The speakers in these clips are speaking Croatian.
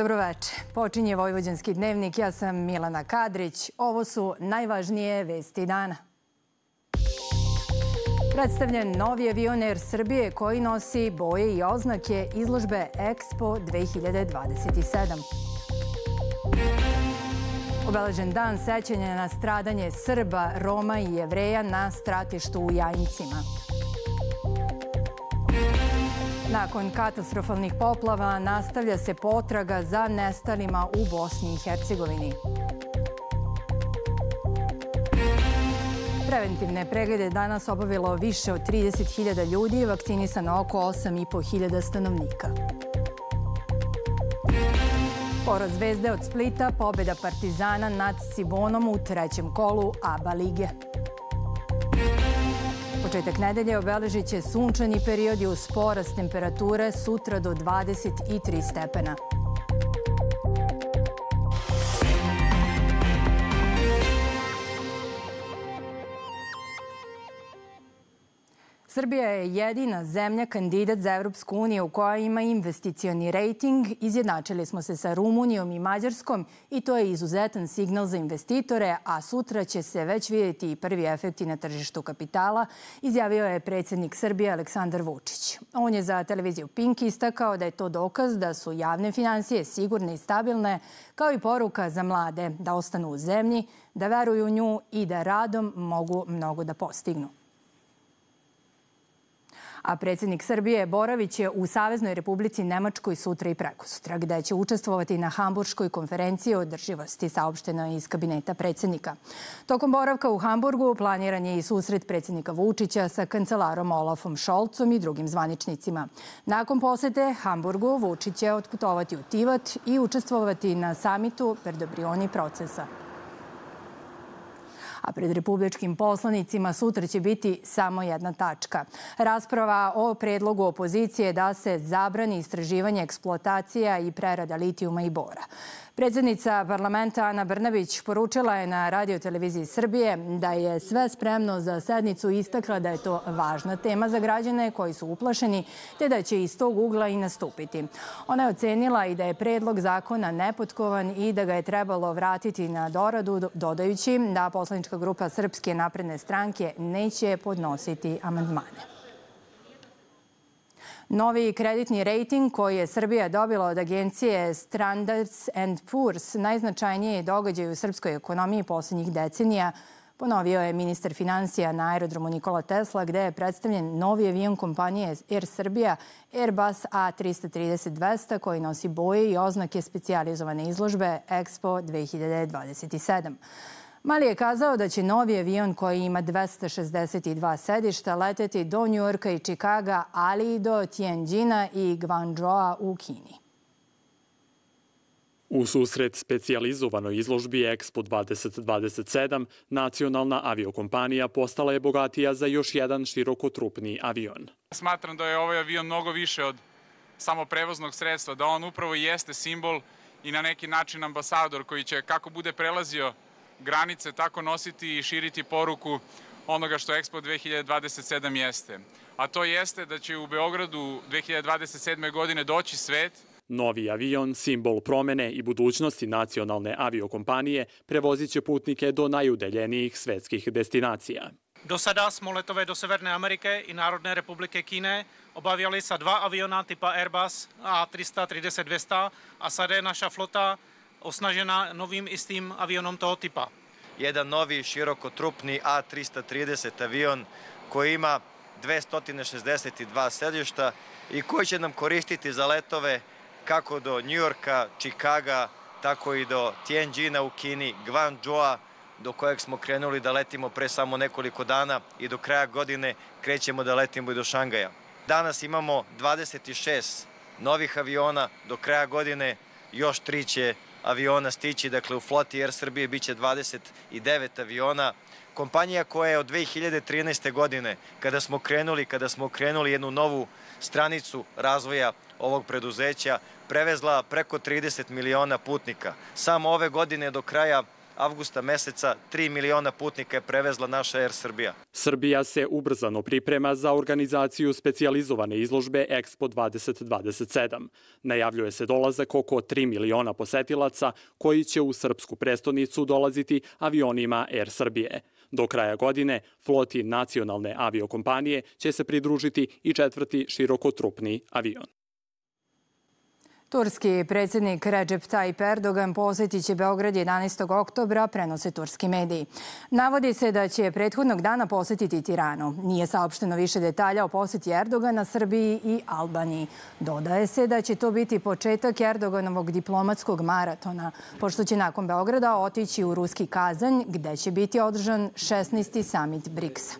Dobroveče. Počinje Vojvođanski dnevnik. Ja sam Milana Kadrić. Ovo su najvažnije vesti dana. Predstavljen novi avion Air Srbije koji nosi boje i oznake izložbe Expo 2027. Obeležen dan sećanja na stradanje Srba, Roma i Jevreja na stratištu u Jajincima. Nakon katastrofalnih poplava nastavlja se potraga za nestalima u Bosni i Hercegovini. Preventivne preglede danas obavilo više od 30.000 ljudi, vakcinisano oko 8.500 stanovnika. Poraz Zvezde od Splita, pobjeda Partizana nad Cibonom u trećem kolu ABA lige. Početak nedelje obeležit će sunčani period i uz porast temperature sutra do 23 stepena. Srbija je jedina zemlja kandidat za Evropsku uniju koja ima investicioni rejting. Izjednačili smo se sa Rumunijom i Mađarskom i to je izuzetan signal za investitore, a sutra će se već vidjeti i prvi efekti na tržištu kapitala, izjavio je predsjednik Srbije Aleksandar Vučić. On je za televiziju Pink istakao da je to dokaz da su javne finansije sigurne i stabilne, kao i poruka za mlade da ostanu u zemlji, da veruju u nju i da radom mogu mnogo da postignu. A predsjednik Srbije boraviće u Saveznoj Republici Nemačkoj sutra i prekosutra, gde će učestvovati na Hamburškoj konferenciji o održivosti, saopšteno je iz kabineta predsjednika. Tokom boravka u Hamburgu planiran je i susret predsjednika Vučića sa kancelarom Olafom Scholzom i drugim zvaničnicima. Nakon posete Hamburgu, Vučić će otputovati u Tivat i učestvovati na samitu Verdobrioni procesa. A pred republičkim poslanicima sutra će biti samo jedna tačka. Rasprava o predlogu opozicije da se zabrani istraživanje, eksploatacija i prerada litijuma i bora. Predsjednica parlamenta Ana Brnabić poručila je na radioteleviziji Srbije da je sve spremno za sednicu i istakla da je to važna tema za građane koji su uplašeni, te da će iz tog ugla i nastupiti. Ona je ocenila i da je predlog zakona nepotkovan i da ga je trebalo vratiti na doradu, dodajući da poslanička grupa Srpske napredne stranke neće podnositi amandmane. Novi kreditni rejting koji je Srbija dobila od agencije Standards and Poor's, najznačajniji događaj u srpskoj ekonomiji posljednjih decenija, ponovio je ministar finansija na aerodromu Nikola Tesla, gde je predstavljen novi avion kompanije Air Srbija, Airbus A330-200, koji nosi boje i oznake specijalizovane izložbe Expo 2027. Mali je kazao da će novi avion koji ima 262 sedišta leteti do Njujorka i Čikaga, ali i do Tianjina i Guangzhoua u Kini. U susret specijalizovanoj izložbi Expo 2027, nacionalna aviokompanija postala je bogatija za još jedan širokotrupni avion. Smatram da je ovaj avion mnogo više od samo prevoznog sredstva, da on upravo jeste simbol i na neki način ambasador koji će, kako bude prelazio granice, tako nositi i širiti poruku onoga što Expo 2027 jeste. A to jeste da će u Beogradu 2027. godine doći svet. Novi avion, simbol promene i budućnosti nacionalne aviokompanije, prevozit će putnike do najudaljenijih svetskih destinacija. Do sada smo letove do Severne Amerike i Narodne republike Kine obavljali sa 2 aviona tipa Airbus A330-200, a sada je naša flota osnažena novim istim avionom toho tipa. Jedan novi širokotrupni A330 avion koji ima 262 sedišta i koji će nam koristiti za letove kako do Njujorka, Čikaga, tako i do Tianjina u Kini, Guangzhoua, do kojeg smo krenuli da letimo pre samo nekoliko dana i do kraja godine krećemo da letimo i do Šangaja. Danas imamo 26 novih aviona, do kraja godine još 3 će aviona stići, dakle u floti Air Srbije biće 29 aviona. Kompanija koja je od 2013. godine, kada smo krenuli jednu novu stranicu razvoja ovog preduzeća, prevezla preko 30 miliona putnika. Samo ove godine do kraja avgusta meseca 3 miliona putnika je prevezla naša Air Srbija. Srbija se ubrzano priprema za organizaciju specijalizovane izložbe Expo 2027. Najavljuje se dolazak oko 3 miliona posetilaca koji će u srpsku prestonicu dolaziti avionima Air Srbije. Do kraja godine floti nacionalne aviokompanije će se pridružiti i 4. širokotrupni avion. Turski predsjednik Recep Tayyip Erdogan posjetit će Beograd 11. oktobra, prenose turski mediji. Navodi se da će prethodnog dana posjetiti Tiranu. Nije saopšteno više detalja o posjeti Erdogana Srbiji i Albaniji. Dodaje se da će to biti početak Erdoganovog diplomatskog maratona, pošto će nakon Beograda otići u ruski Kazanj, gde će biti održan 16. samit BRICS-a.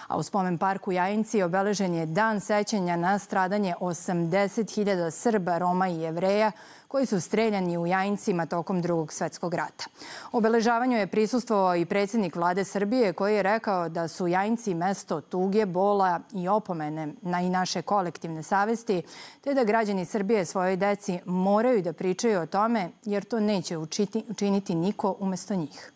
A u spomen parku Jajinci obeležen je dan sećanja na stradanje 80.000 Srba, Roma i Jevreja koji su streljani u Jajincima tokom Drugog svjetskog rata. Obeležavanju je prisustvovao i predsjednik vlade Srbije koji je rekao da su Jajinci mesto tuge, bola i opomene na i naše kolektivne savesti, te da građani Srbije svojoj deci moraju da pričaju o tome jer to neće učiniti niko umjesto njih.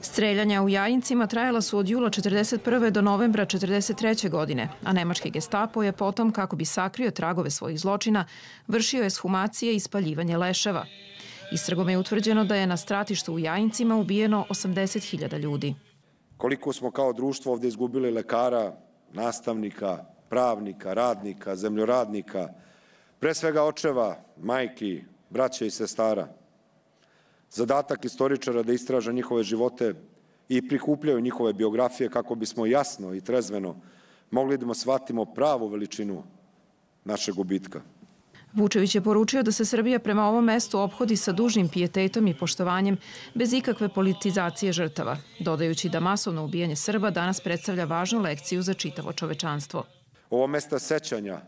Streljanja u Jajincima trajala su od jula 1941. do novembra 1943. godine, a nemački Gestapo je potom, kako bi sakrio tragove svojih zločina, vršio eshumacije i spaljivanje leševa. Istragom je utvrđeno da je na stratištu u Jajincima ubijeno 80.000 ljudi. Koliko smo kao društvo ovdje izgubili lekara, nastavnika, pravnika, radnika, zemljoradnika, pre svega očeva, majki, braće i sestara. Zadatak istoričara da istraža njihove živote i prikupljaju njihove biografije kako bismo jasno i trezveno mogli da shvatimo pravu veličinu našeg gubitka. Vučević je poručio da se Srbija prema ovom mestu ophodi sa dužnim pijetetom i poštovanjem bez ikakve politizacije žrtava, dodajući da masovno ubijanje Srba danas predstavlja važnu lekciju za čitavo čovečanstvo. Ovo mesto sećanja,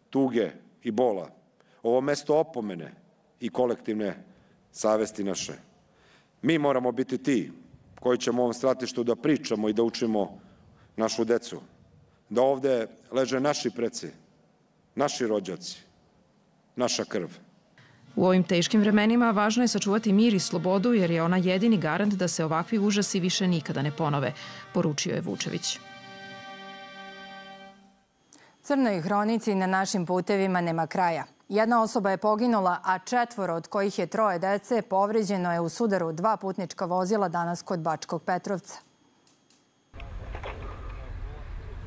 tuge i bola, ovo mesto opomene i kolektivne savesti naše. Mi moramo biti ti koji ćemo u ovom stratištu da pričamo i da učimo našu decu. Da ovde leže naši preci, naši rođaci, naša krv. U ovim teškim vremenima važno je sačuvati mir i slobodu jer je ona jedini garant da se ovakvi užasi više nikada ne ponove, poručio je Vučević. Crnoj hronici na našim putevima nema kraja. Jedna osoba je poginula, a 4 od kojih je 3 dece povređeno je u sudaru 2 putnička vozila danas kod Bačkog Petrovca.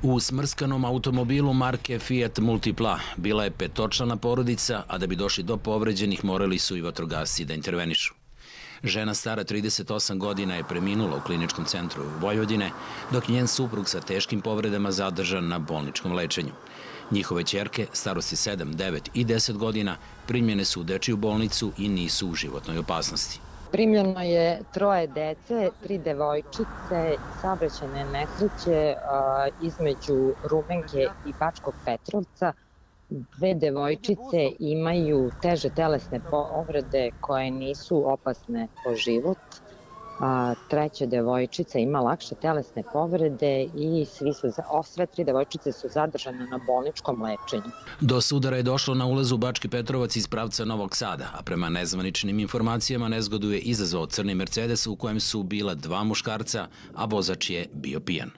U smrskanom automobilu marke Fiat Multipla bila je 5-člana porodica, a da bi došli do povređenih morali su i vatrogasci da intervenišu. Žena stara 38 godina je preminula u kliničkom centru Vojvodine, dok njen suprug sa teškim povredama zadržan na bolničkom lečenju. Njihove ćerke, starosti 7, 9 i 10 godina, primljene su u dečiju bolnicu i nisu u životnoj opasnosti. Primljeno je 3 dece, 3 devojčice, saobraćajne nesreće između Rumenke i Bačkog Petrovca. 2 devojčice imaju teže telesne povrede koje nisu opasne po život. 3. devojčica ima lakše telesne povrede i sve 3 devojčice su zadržane na bolničkom lečenju. Do sudara je došlo na ulazu Bački Petrovac iz pravca Novog Sada, a prema nezvaničnim informacijama nezgodu je izazvao crni Mercedes u kojem su bila 2 muškarca, a vozač je bio pijan.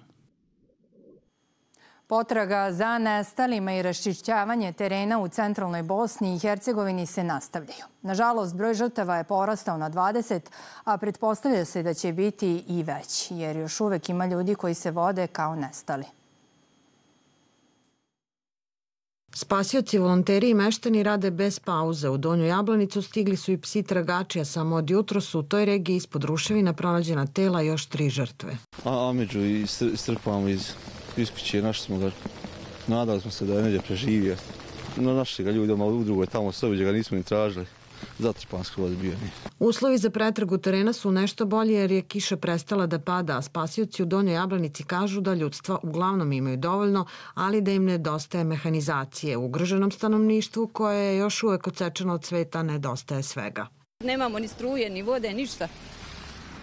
Potraga za nestalima i raščišćavanje terena u centralnoj Bosni i Hercegovini se nastavljaju. Nažalost, broj žrtava je porastao na 20, a pretpostavlja se da će biti i veći, jer još uvek ima ljudi koji se vode kao nestali. Spasioci, volonteri i meštani rade bez pauze. U Donju Jablanicu stigli su i psi tragači, a samo od jutro su u toj regiji ispod ruševina pronađena tela još 3 žrtve. Ameđu istrpamo iz kuće, našli smo ga, nadali smo se da je neđe preživio. Našli ga ljudi u drugoj tamo sobi gdje ga nismo ni tražili. Zatrpan skroz bio. Uslovi za pretragu terena su nešto bolje jer je kiša prestala da pada, a spasioci u Donjoj Jablanici kažu da ljudstva uglavnom imaju dovoljno, ali da im nedostaje mehanizacije. U ugroženom stanovništvu koje je još uvek odsečeno od sveta nedostaje svega. Nemamo ni struje, ni vode, ništa.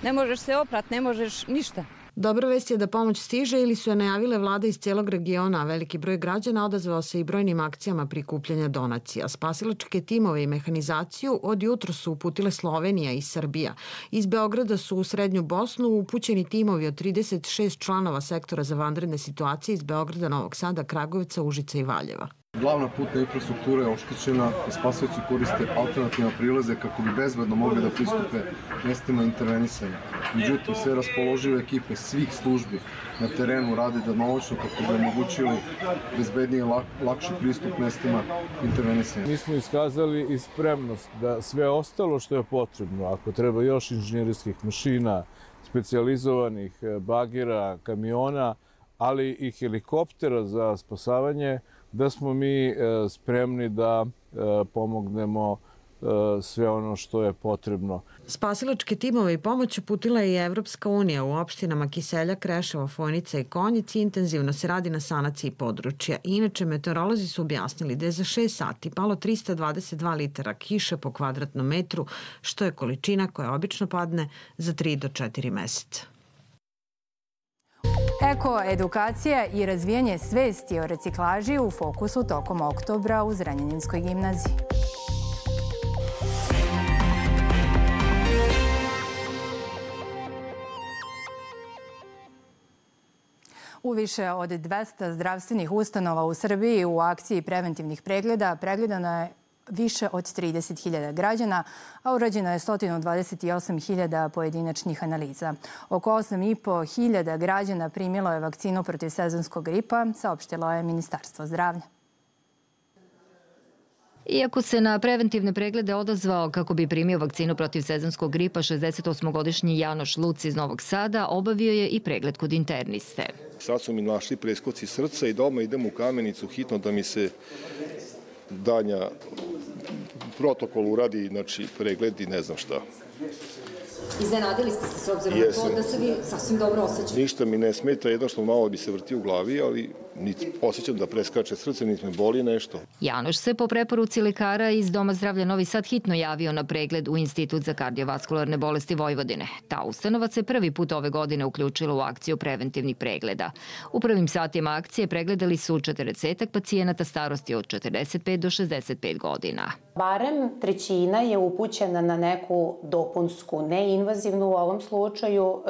Ne možeš se oprat, ne možeš ništa. Dobra vest je da pomoć stiže ili su je najavile vlade iz cijelog regiona, a veliki broj građana odazvao se i brojnim akcijama prikupljanja donacija. Spasilačke timove i mehanizaciju od jutra su uputile Slovenija i Srbija. Iz Beograda su u Srednju Bosnu upućeni timovi od 36 članova sektora za vanredne situacije iz Beograda, Novog Sada, Kragujevca, Užica i Valjeva. Glavna putna infrastruktura je oštećena i spasioci koriste alternativne prilaze kako bi bezbedno mogli da pristupe mestima intervenisanja. Međutim, sve raspoložive ekipe svih službi na terenu rade danonoćno kako bi omogućili bezbedniji i lakši pristup mestima intervenisanja. Mi smo iskazali i spremnost da sve ostalo što je potrebno, ako treba još inženjerijskih mašina, specijalizovanih bagera, kamiona, ali i helikoptera za spasavanje, da smo mi spremni da pomognemo sve ono što je potrebno. Spasilačke timove i pomoć uputila je i Evropska unija. U opštinama Kiseljak, Kreševo, Fojnica i Konjic intenzivno se radi na sanaciji područja. Inače, meteorolozi su objasnili da je za 6 sati palo 322 litara kiše po kvadratnom metru, što je količina koja obično padne za 3 do 4 meseca. Eko-edukacija i razvijanje svesti o reciklaži u fokusu tokom oktobra u Zrenjaninskoj gimnaziji. U više od 200 zdravstvenih ustanova u Srbiji u akciji preventivnih pregleda pregledano je više od 30.000 građana, a urađeno je 128.000 pojedinačnih analiza. Oko 8.500 građana primilo je vakcinu protiv sezonskog gripa, saopštilo je Ministarstvo zdravlja. Iako se na preventivne preglede odazvao kako bi primio vakcinu protiv sezonskog gripa, 68-godišnji Janoš Luc iz Novog Sada obavio je i pregled kod interniste. Sad su mi našli preskoci srca i doma idem u Kamenicu hitno da mi se danja protokol uradi, znači pregled i ne znam šta. Iznenadili ste se s obzirom na to da se vi sasvim dobro osjećate? Ništa mi ne smeta, jedno što malo bi se vrti u glavi, ali niti osjećam da preskače srce, niti me boli nešto. Janoš se po preporuci lekara iz Doma zdravlja Novi Sad hitno javio na pregled u Institut za kardiovaskularne bolesti Vojvodine. Ta ustanova se prvi put ove godine uključila u akciju preventivnih pregleda. U prvim satima akcije pregledali su 40 pacijenata starosti od 45 do 65 godina. Barem trećina je upućena na neku dopunsku, neinvazivnu u ovom slučaju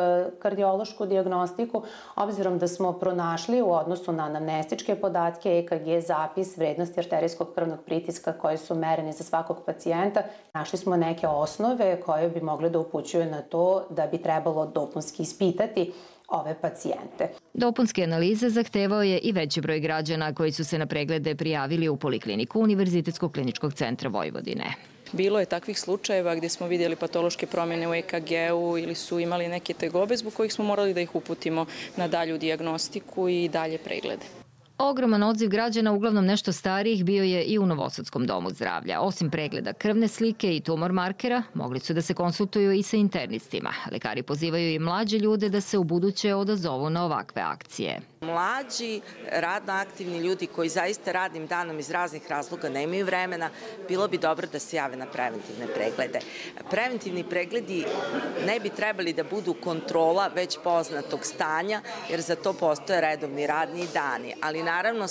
kardiološku dijagnostiku, obzirom da smo pronašli u odnosu na anamnestičke podatke, EKG, zapis, vrednosti arterijskog krvnog pritiska koji su mereni za svakog pacijenta. Našli smo neke osnove koje bi mogle da upućuju na to da bi trebalo dopunski ispitati ove pacijente. Dopunske analize zahtevao je i veći broj građana koji su se na preglede prijavili u Polikliniku Univerzitetskog kliničkog centra Vojvodine. Bilo je takvih slučajeva gdje smo vidjeli patološke promjene u EKG-u ili su imali neke tegobe zbog kojih smo morali da ih uputimo na dalju dijagnostiku i dalje preglede. Ogroman odziv građana, uglavnom nešto starijih, bio je i u Novosadskom domu zdravlja. Osim pregleda krvne slike i tumor markera, mogli su da se konsultuju i sa internistima. Lekari pozivaju i mlađe ljude da se ubuduće odazovu na ovakve akcije. Mlađi, radno aktivni ljudi koji zaista radnim danom iz raznih razloga nemaju vremena, bilo bi dobro da se jave na preventivne preglede. Preventivni pregledi ne bi trebali da budu kontrola već poznatog stanja, jer za to postoje redovni radni dani. Ali naravno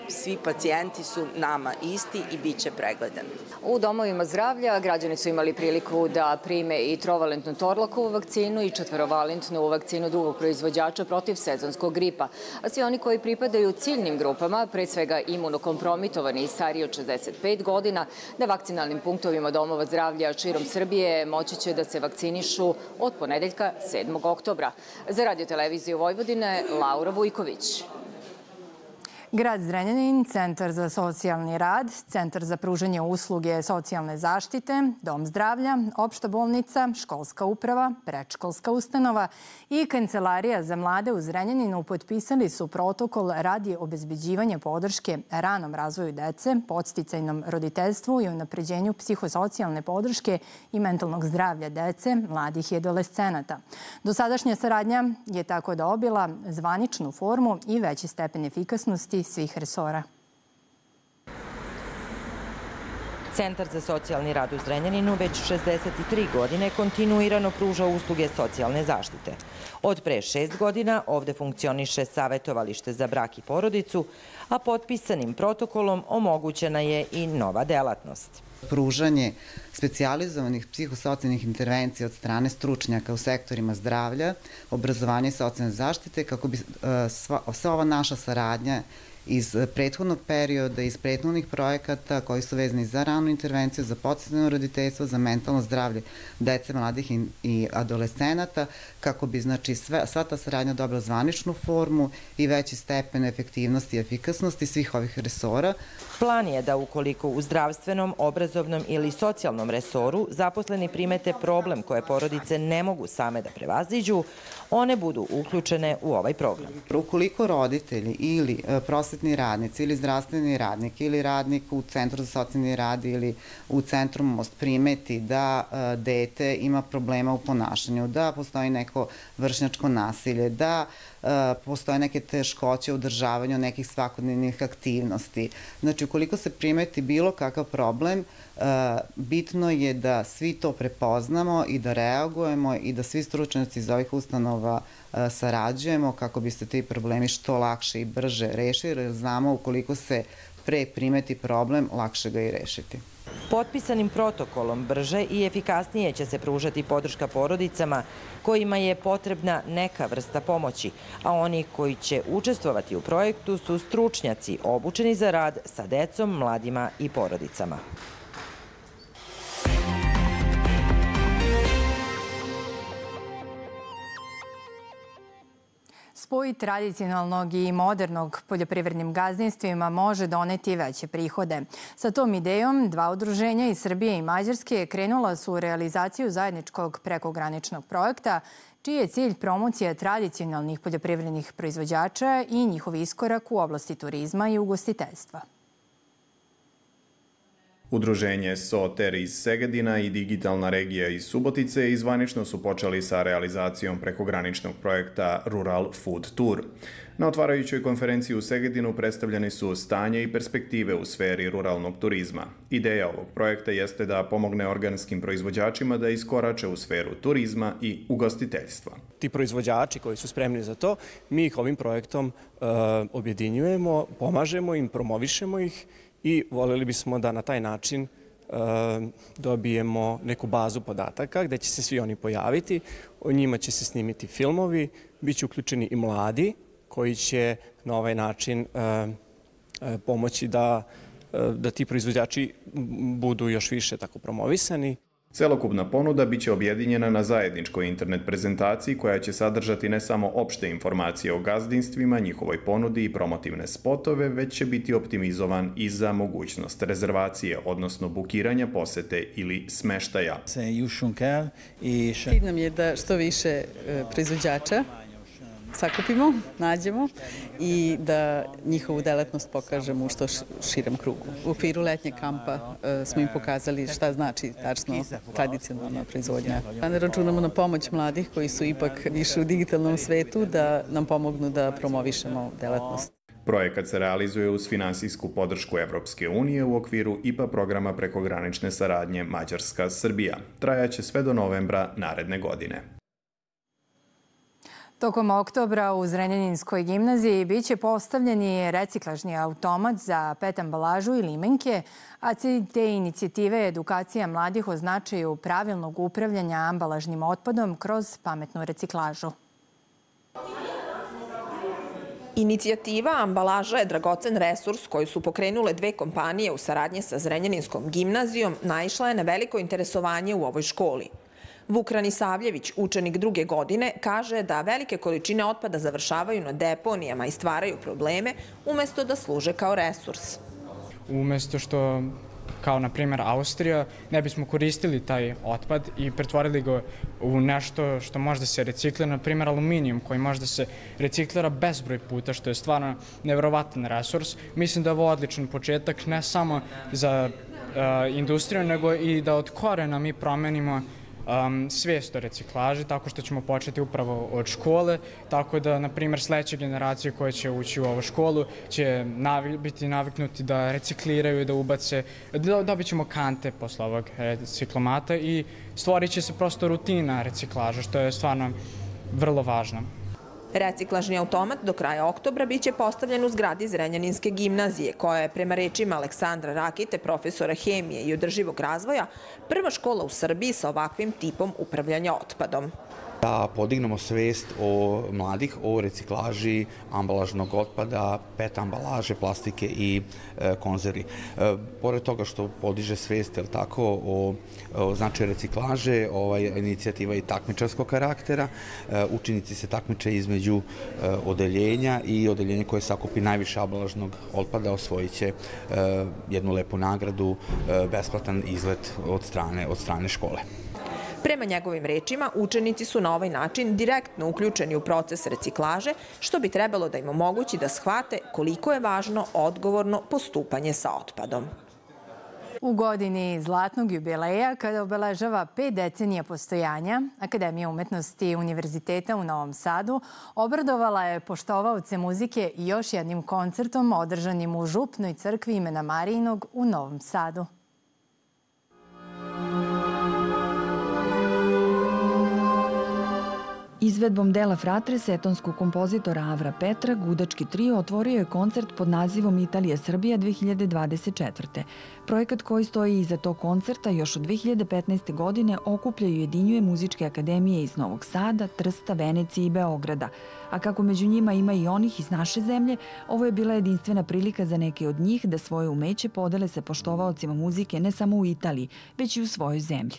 svi pacijenti su nama isti i bit će pregledani. U domovima zdravlja građani su imali priliku da prime i trovalentnu Torlakovu vakcinu i 4-valentnu vakcinu drugog proizvođača protiv sezonskog gripa. A svi oni koji pripadaju ciljnim grupama, pre svega imunokompromitovani i stariji od 65 godina, na vakcinalnim punktovima domova zdravlja širom Srbije moći će da se vakcinišu od ponedeljka 7. oktobra. Za Radio-televiziju Vojvodine, Laura Vujković. Grad Zrenjanin, Centar za socijalni rad, Centar za pružanje usluge socijalne zaštite, Dom zdravlja, Opšta bolnica, Školska uprava, Predškolska ustanova i Kancelarija za mlade u Zrenjaninu potpisali su protokol radi obezbeđivanja podrške ranom razvoju dece, podsticajnom roditeljstvu i unapređenju psihosocijalne podrške i mentalnog zdravlja dece, mladih i adolescenata. Dosadašnja saradnja je tako dobila zvaničnu formu i veći stepen efikasnosti svih resora. Centar za socijalni rad u Zrenjaninu već 63 godine kontinuirano pruža usluge socijalne zaštite. Od pre 6 godina ovde funkcioniše savjetovalište za brak i porodicu, a potpisanim protokolom omogućena je i nova delatnost. Pružanje specijalizovanih psihosocijalnih intervencija od strane stručnjaka u sektorima zdravlja, obrazovanja i socijalne zaštite, kako bi sva ova naša saradnja iz prethodnog perioda, iz prethodnih projekata koji su vezani za ranu intervenciju, za podsticajno roditeljstvo, za mentalno zdravlje dece, mladih i adolescenata, kako bi sva ta saradnja dobila zvaničnu formu i veći stepen efektivnosti i efikasnosti svih ovih resora. Plan je da ukoliko u zdravstvenom, obrazovnom ili socijalnom resoru zaposleni primete problem koje porodice ne mogu same da prevaziđu, one budu uključene u ovaj program. Ukoliko roditelji ili prosvetni radnici ili zdravstveni radnik ili radnik u Centru za socijalni rad ili u Centru Most primeti da dete ima problema u ponašanju, da postoji neko vršnjačko nasilje, da postoje neke teškoće u održavanju nekih svakodnevnih aktivnosti. Znači, ukoliko se primeti bilo kakav problem, bitno je da svi to prepoznamo i da reagujemo i da svi stručnjaci iz ovih ustanova sarađujemo kako bi se ti problemi što lakše i brže rešili, jer znamo ukoliko se pre primeti problem, lakše ga i rešiti. Potpisanim protokolom brže i efikasnije će se pružati podrška porodicama kojima je potrebna neka vrsta pomoći, a oni koji će učestvovati u projektu su stručnjaci obučeni za rad sa decom, mladima i porodicama. Spoj tradicionalnog i modernog poljoprivrednim gazdinstvima može doneti veće prihode. Sa tom idejom dva udruženja iz Srbije i Mađarske krenula su u realizaciju zajedničkog prekograničnog projekta, čiji je cilj promocija tradicionalnih poljoprivrednih proizvođača i njihov iskorak u oblasti turizma i ugostiteljstva. Udruženje SOTER iz Segedina i Digitalna regija iz Subotice zvanično su počeli sa realizacijom prekograničnog projekta Rural Food Tour. Na otvarajućoj konferenciji u Segedinu predstavljeni su stanje i perspektive u sferi ruralnog turizma. Ideja ovog projekta jeste da pomogne organskim proizvođačima da iskorače u sferu turizma i ugostiteljstva. Ti proizvođači koji su spremni za to, mi ih ovim projektom objedinjujemo, pomažemo im, promovišemo ih i voljeli bismo da na taj način dobijemo neku bazu podataka gde će se svi oni pojaviti, o njima će se snimiti filmovi, bit će uključeni i mladi koji će na ovaj način pomoći da ti proizvođači budu još više tako promovisani. Celokupna ponuda biće objedinjena na zajedničkoj internet prezentaciji koja će sadržati ne samo opšte informacije o gazdinstvima, njihovoj ponudi i promotivne spotove, već će biti optimizovan i za mogućnost rezervacije, odnosno bukiranja posete ili smeštaja. Cilj nam je da što više proizvođača sakupimo, nađemo i da njihovu delatnost pokažemo u što širem krugu. U okviru letnjeg kampa smo im pokazali šta znači tačno tradicionalna proizvodnja. Ne računamo na pomoć mladih koji su ipak više u digitalnom svetu da nam pomognu da promovišemo delatnost. Projekat se realizuje uz finansijsku podršku Evropske unije u okviru IPA programa prekogranične saradnje Mađarska-Srbija. Trajaće sve do novembra naredne godine. Tokom oktobra u Zrenjaninskoj gimnaziji biće postavljeni reciklažni automat za PET ambalažu i limenke, a cilj te inicijative je edukacija mladih o značaju pravilnog upravljanja ambalažnim otpadom kroz pametnu reciklažu. Inicijativa Ambalaža je dragocen resurs koju su pokrenule dve kompanije u saradnji sa Zrenjaninskom gimnazijom, naišla je na veliko interesovanje u ovoj školi. Vuk Ranisavljević, učenik 2. godine, kaže da velike količine otpada završavaju na deponijama i stvaraju probleme umesto da služe kao resurs. Umesto što, kao na primjer Austrija, ne bismo koristili taj otpad i pretvorili ga u nešto što može da se reciklira, na primjer aluminijum koji može da se reciklira bezbroj puta, što je stvarno nevjerovatan resurs. Mislim da je ovo odličan početak ne samo za industriju, nego i da od korena mi promenimo svijest o reciklaži, tako što ćemo početi upravo od škole, tako da, na primjer, sledeće generacije koje će ući u ovu školu će biti naviknuti da recikliraju, da ubace, dobit ćemo kante posle ovog reciklomata i stvorit će se prosto rutina reciklaža, što je stvarno vrlo važno. Reciklažni automat do kraja oktobra biće postavljen u zgradi Zrenjaninske gimnazije, koja je, prema rečima Aleksandra Rakite, profesora hemije i održivog razvoja, prva škola u Srbiji sa ovakvim tipom upravljanja otpadom. Da podignemo svest mladih o reciklaži ambalažnog otpada, PET ambalaže, plastike i konzervi. Pored toga što podiže svest o značaju reciklaže, inicijativa je i takmičarskog karaktera. Učenici se takmiče između odeljenja i odeljenja koje sakupi najviše ambalažnog otpada osvojit će jednu lepu nagradu, besplatan izlet od strane škole. Prema njegovim rečima, učenici su na ovaj način direktno uključeni u proces reciklaže, što bi trebalo da im omogući da shvate koliko je važno odgovorno postupanje sa otpadom. U godini zlatnog jubileja, kada obeležava 5 decenija postojanja, Akademija umetnosti Univerziteta u Novom Sadu obradovala je poštovaoce muzike i još jednim koncertom održanim u Župnoj crkvi imena Marijinog u Novom Sadu. Izvedbom dela Fratre setonskog kompozitora Avra Petra, gudački trio otvorio je koncert pod nazivom Italija Srbija 2024. Projekat koji stoji iza tog koncerta još od 2015. godine okuplja i ujedinjuje muzičke akademije iz Novog Sada, Trsta, Venecije i Beograda. A kako među njima ima i onih iz naše zemlje, ovo je bila jedinstvena prilika za neke od njih da svoje umeće podele sa poštovaocima muzike ne samo u Italiji, već i u svojoj zemlji.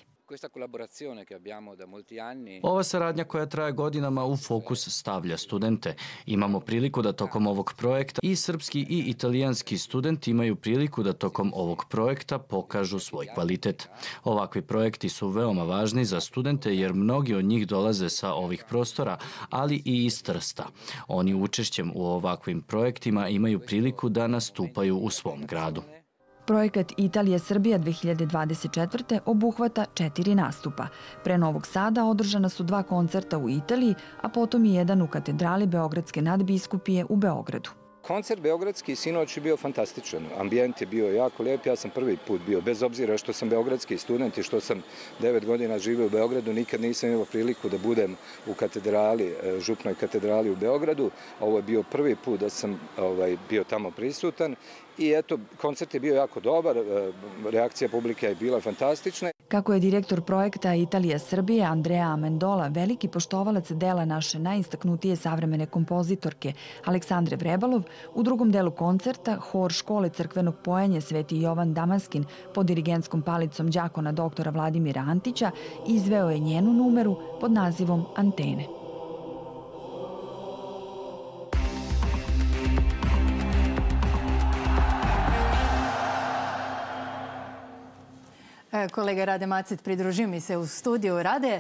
Ova saradnja koja traje godinama u fokus stavlja studente. Imamo priliku da tokom ovog projekta i srpski i italijanski studenti imaju priliku da tokom ovog projekta pokažu svoj kvalitet. Ovakvi projekti su veoma važni za studente jer mnogi od njih dolaze sa ovih prostora, ali i iz Trsta. Oni učešćem u ovakvim projektima imaju priliku da nastupaju u svom gradu. Projekat Italija Srbija 2024. obuhvata 4 nastupa. Pre Novog Sada održana su 2 koncerta u Italiji, a potom i jedan u katedrali Beogradske nadbiskupije u Beogradu. Koncert beogradski sinoć je bio fantastičan. Ambijent je bio jako lijep. Ja sam prvi put bio, bez obzira što sam beogradski student i što sam 9 godina živio u Beogradu, nikad nisam imao priliku da budem u katedrali, Župnoj katedrali u Beogradu. Ovo je bio prvi put da sam bio tamo prisutan. I eto, koncert je bio jako dobar, reakcija publike je bila fantastična. Kako je direktor projekta Italija Srbije Andrea Amendola veliki poštovalac dela naše najistaknutije savremene kompozitorke Aleksandre Vrebalov, u drugom delu koncerta hor škole crkvenog pojenja Sveti Jovan Damaskin pod dirigentskom palicom đakona doktora Vladimira Antića izveo je njenu numeru pod nazivom Antene. Kolega Rade Macet, pridružio mi se u studiju. Rade,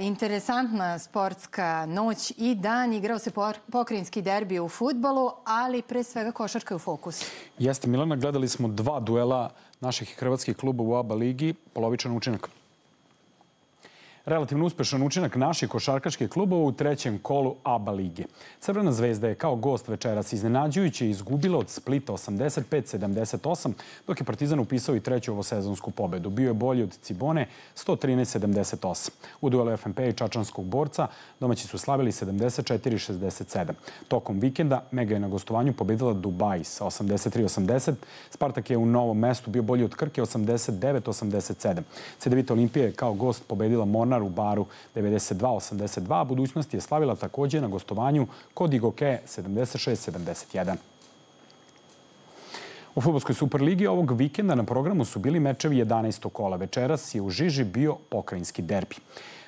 interesantna sportska noć i dan. Igrao se pokrajinski derbi u fudbalu, ali pre svega košarka je u fokusu. Jeste, Milana, gledali smo 2 duela naših hrvatskih kluba u ABA ligi, polovičan učinak. Relativno uspešan učinak naših košarkaških klubova u 3. kolu ABA lige. Crvena zvezda je kao gost večeras iznenađujuće izgubila od Splita 85-78, dok je Partizan upisao i 3. ovosezonsku pobedu. Bio je bolji od Cibone 113-78. U duelu FNP i Čačanskog borca domaći su slavili 74-67. Tokom vikenda Mega je na gostovanju pobedila Dubai sa 83-80. Spartak je u Novom Mestu bio bolji od Krke 89-87. Cedevita Olimpija je kao gost pobedila Mornar u Baru 92-82, a budućnost je slavila takođe na gostovanju kod Igoke 76-71. U fudbalskoj Superligi ovog vikenda na programu su bili mečevi 11. kola. Večeras je u žiži bio pokrajinski derbi.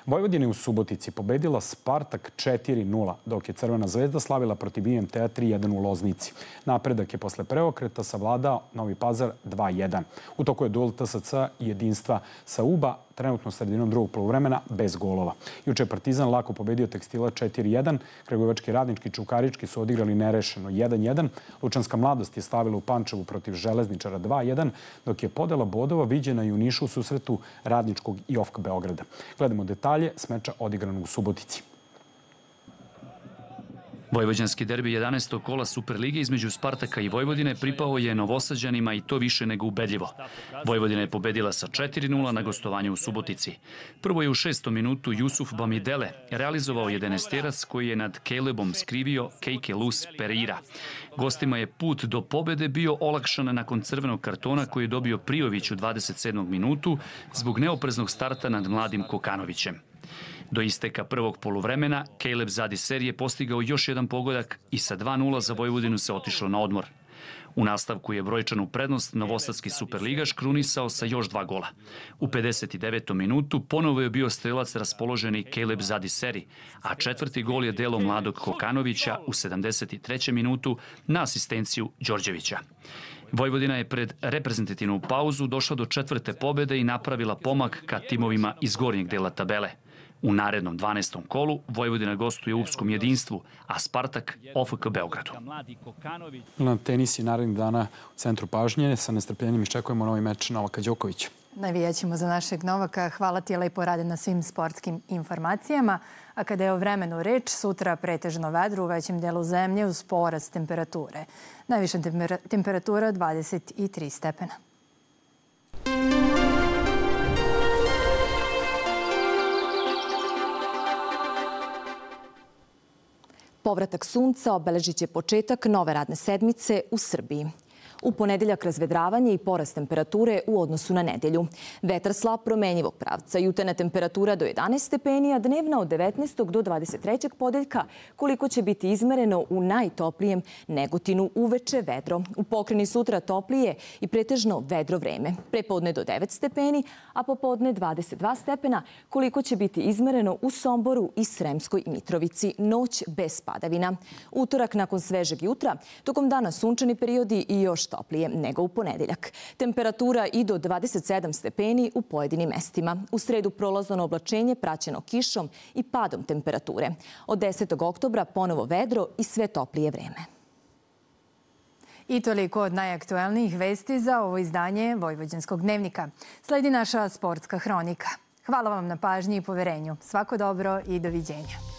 Vojvodina je u Subotici pobedila Spartak 4-0, dok je Crvena zvezda slavila protiv IMT-a 3-1 u Loznici. Napredak je posle preokreta savladao Novi Pazar 2-1. U toku je duel TSC i Jedinstva sa UBA, trenutno sredinom drugog poluvremena, bez golova. Juče je Partizan lako pobedio Tekstila 4-1, Kragujevački, Radnički i Čukarički su odigrali nerešeno 1-1, Lučanska mladost je slavila u Pančevu protiv Železničara 2-1, dok je podela bodova viđena i u Nišu u susretu Radničkog i OFK Beograda. Gledamo detalje s meča odigranog u Subotici. Vojvođanski derbi 11. kola Superlige između Spartaka i Vojvodine pripao je Novosađanima i to više nego ubedljivo. Vojvodina je pobedila sa 4-0 na gostovanju u Subotici. Prvo je u 6. minutu Jusuf Bamidele realizovao 11-terac koji je nad Calebom skrivio Keike Luz Pereira. Gostima je put do pobede bio olakšan nakon crvenog kartona koji je dobio Prijović u 27. minutu zbog neopreznog starta nad mladim Kokanovićem. Do isteka prvog poluvremena, Caleb Zadiser je postigao još jedan pogodak i sa 2-0 za Vojvodinu se otišlo na odmor. U nastavku je brojčanu prednost novosadski superligaš krunisao sa još 2 gola. U 59. minutu ponovo je bio strelac raspoloženi Caleb Zadiseri, a četvrti gol je delo mladog Kokanovića u 73. minutu na asistenciju Đorđevića. Vojvodina je pred reprezentativnu pauzu došla do 4. pobede i napravila pomak ka timovima iz gornjeg dela tabele. U narednom 12. kolu Vojvodina gostuje u Upskom Jedinstvu, a Spartak OFK Beogradu. Na tenis je narednih dana u centru pažnje. Sa nestrpljenjem iščekujemo novi meč Novaka Đokovića. Navijaćemo za našeg Novaka. Hvala ti, lepo rade na svim sportskim informacijama. A kada je o vremenu reč, sutra pretežno vedro u većem delu zemlje uz porast temperature. Najviša temperatura 23 stepena. Povratak sunca obeležit će početak nove radne sedmice u Srbiji. U ponedeljak razvedravanje i porast temperature u odnosu na nedelju. Vetar slab promenjivog pravca, jutarnja temperatura do 11 stepeni, a dnevna od 19. do 23. podeljka, koliko će biti izmereno u najtoplijem Negotinu uveče vedro. U Pokreni sutra toplije i pretežno vedro vreme. Prepodne do 9 stepeni, a popodne 22 stepena, koliko će biti izmereno u Somboru i Sremskoj Mitrovici. Noć bez padavina. Utorak nakon svežeg jutra, tokom dana sunčani periodi i još toplije nego u ponedeljak. Temperatura i do 27 stepeni u pojedinim mestima. U sredu prolazno oblačenje praćeno kišom i padom temperature. Od 10. oktobra ponovo vedro i sve toplije vreme. I toliko od najaktuelnijih vesti za ovo izdanje Vojvođanskog dnevnika. Sledi naša sportska hronika. Hvala vam na pažnji i poverenju. Svako dobro i doviđenja.